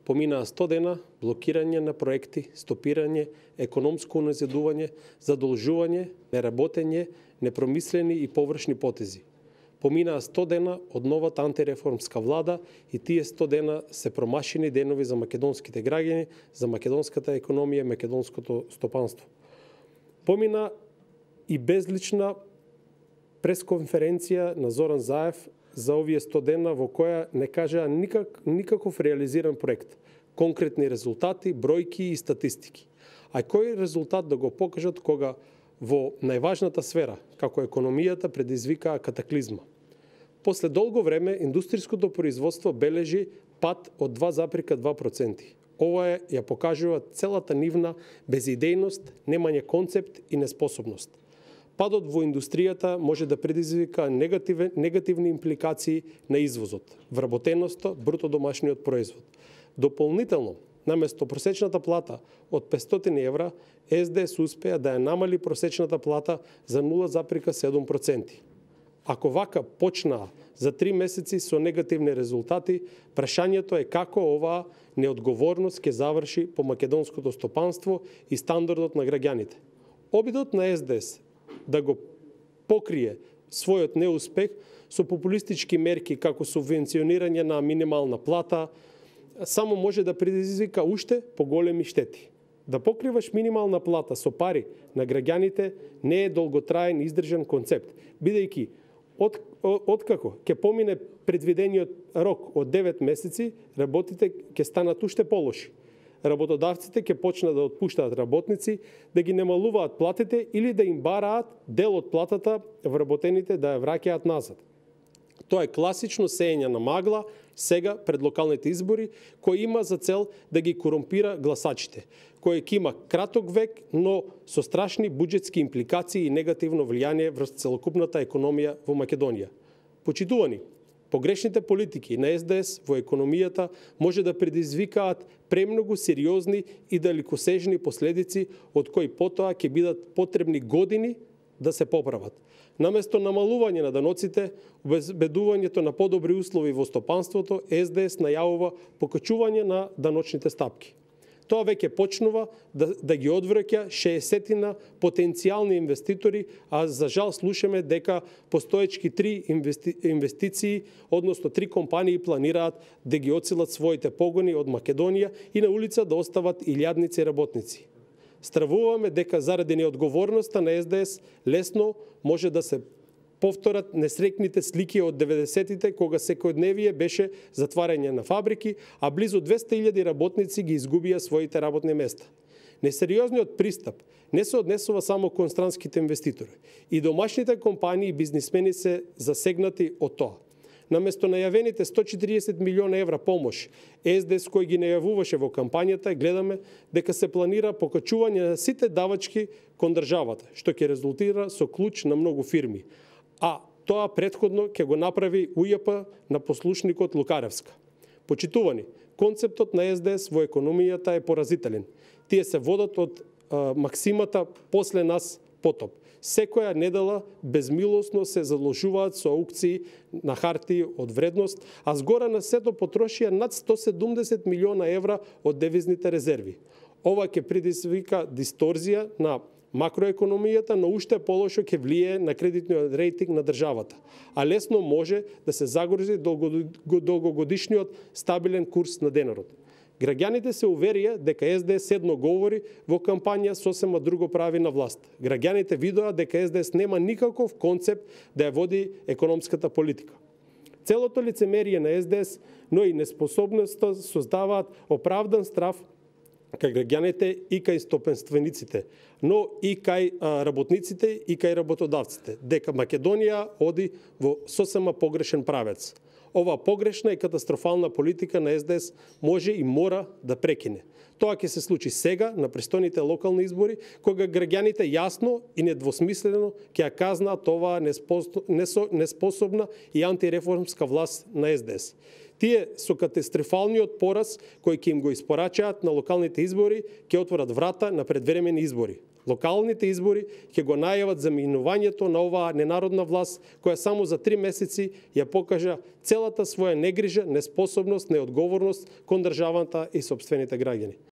Поминаа 100 дена блокирање на проекти, стопирање, економско уназидување, задолжување, неработење, непромислени и површни потези. Поминаа 100 дена од новата антиреформска влада и тие 100 дена се промашени денови за македонските граѓани, за македонската економија и македонското стопанство. Помина и безлична пресконференција на Зоран Заев за овие 100 дена во која не кажаа никаков реализиран проект, конкретни резултати, бројки и статистики. А кој резултат да го покажат кога во најважната сфера, како економијата, предизвикаа катаклизма? После долго време индустриското производство бележи пад од 2,2%. Ова ја покажува целата нивна безидејност, немање концепт и неспособност. Падот во индустријата може да предизвика негативни импликации на извозот, вработеноста, бруто домашниот производ. Дополнително, наместо просечната плата од 500 евра, СДС успеа да ја намали просечната плата за 0,7%. Ако вака почнаа за 3 месеци со негативни резултати, прашањето е како оваа неодговорност ќе заврши по македонското стопанство и стандардот на граѓаните. Обидот на СДС да го покрие својот неуспех со популистички мерки како субвенционирање на минимална плата, само може да предизвика уште поголеми штети. Да покриваш минимална плата со пари на граѓаните не е долготраен издржан концепт, бидејќи откако ќе помине предвидениот рок од 9 месеци, работите ќе станат уште полоши. Работодавците ќе почнат да отпуштаат работници, да ги намалуваат платите или да им бараат дел од платата вработените да ја враќаат назад. Тоа е класично сеење на магла сега пред локалните избори, кој има за цел да ги корумпира гласачите, кој ќе има краток век, но со страшни буџетски импликации и негативно влијание врз целокупната економија во Македонија. Почитувани, погрешните политики на СДС во економијата може да предизвикаат премногу сериозни и далекосежни последици, од кои потоа ќе бидат потребни години да се поправат. Наместо намалување на даноците, обезбедувањето на подобри услови во стопанството, СДС најавува покачување на даночните стапки. Тоа веќе почнува да ги одвраќа 60 потенцијални инвеститори, а за жал слушаме дека постоечки 3 инвестиции, односно 3 компании планираат да ги оцелат своите погони од Македонија и на улица да остават илјадници работници. Стравуваме дека заради неодговорноста на СДС лесно може да се повторат несрекните слики од 90-тите, кога секојдневие беше затварање на фабрики, а близу 200.000 работници ги изгубија своите работни места. Несериозниот пристап не се однесува само кон странските инвеститори. И домашните компании и бизнисмени се засегнати од тоа. Наместо најавените 140 милиона евра помош, СДС кој ги најавуваше во кампањата, гледаме дека се планира покачување на сите давачки кон државата, што ќе резултира со клуч на многу фирми. А тоа претходно ќе го направи УЈП на послушникот Лукаревска. Почитувани, концептот на СДС во економијата е поразителен. Тие се водат од максимата после нас потоп. Секоја недела безмилосно се заложуваат со аукции на хартии од вредност, а згора на сето потрошија над 170 милиона евра од девизните резерви. Ова ќе предизвика дисторзија на макроекономијата, но уште полошо ќе влие на кредитниот рейтинг на државата, а лесно може да се загрози долгогодишниот стабилен курс на денарот. Граѓаните се уверија дека СДС едно говори во кампања, сосема друго прави на власт. Граѓаните видоа дека СДС нема никаков концепт да ја води економската политика. Целото лицемерие на СДС, но и неспособноста создаваат оправдан страв кај граѓаните и кај стопенствениците, но и кај работниците и кај работодавците, дека Македонија оди во сосема погрешен правец. Ова погрешна и катастрофална политика на СДС може и мора да прекине. Тоа ќе се случи сега на престојните локални избори, кога граѓаните јасно и недвосмислено ќе ја казнаат оваа неспособна и антиреформска власт на СДС. Тие со катастрофалниот пораз кој ќе им го испорачаат на локалните избори ќе отворат врата на предвремени избори. Локалните избори ќе го најават заминувањето на оваа ненародна власт, која само за 3 месеци ја покажа целата своја негрижа, неспособност, неодговорност кон државата и сопствените граѓани.